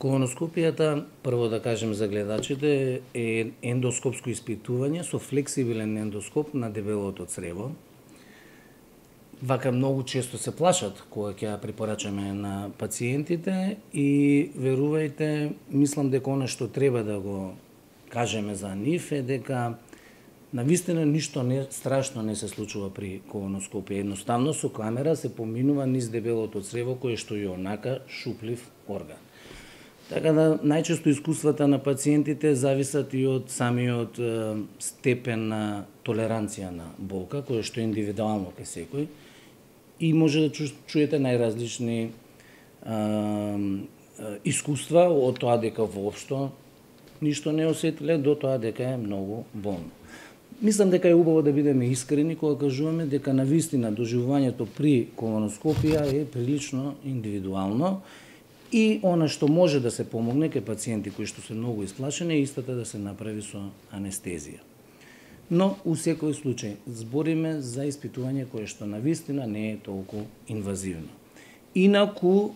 Колоноскопијата, прво да кажем за гледачите, е ендоскопско испитување со флексибилен ендоскоп на дебелото црево. Вака многу често се плашат кога ќе ја препорачаме на пациентите и верувајте, мислам дека она што треба да го кажеме за нив е дека навистина ништо страшно не се случува при колоноскопија. Едноставно со камера се поминува низ дебелото црево кое што е онака шуплив орган. Така да најчесто искуствата на пациентите зависат и од самиот степен на толеранција на болка, која што е индивидуално кај секој, и може да чуете најразлични искуства од тоа дека воопшто ништо не осетиле до тоа дека е многу болно. Мислам дека е убаво да бидеме искрени кога кажуваме дека навистина доживувањето при колоноскопија е прилично индивидуално и она што може да се помогне кај пациенти кои што се многу исплашени е истата да се направи со анестезија. Но, у секој случај, збориме за испитување кое што навистина не е толку инвазивно. Инаку,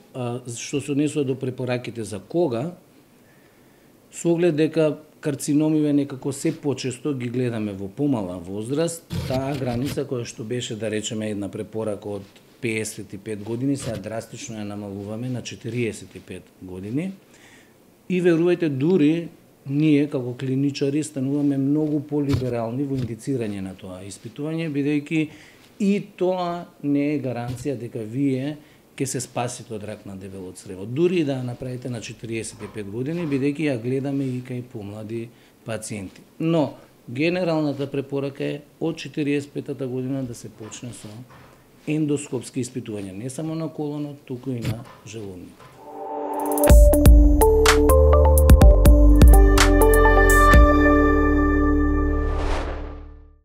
што се однесува до препораките за кога, со оглед дека карциномиве некако се почесто ги гледаме во помала возраст, таа граница која што беше, да речеме, една препорака од 55 години, сега драстично ја намалуваме на 45 години. И верувајте, дури ние како клиничари стануваме многу полиберални во индицирање на тоа испитување, бидејќи и тоа не е гаранција дека вие ќе се спасите од рак на дебело црево. Дури да ја направите на 45 години, бидејќи ја гледаме и кај помлади пациенти. Но генералната препорака е од 45-та година да се почне со ендоскопски испитувања, не само на колонот, туку и на желудникот.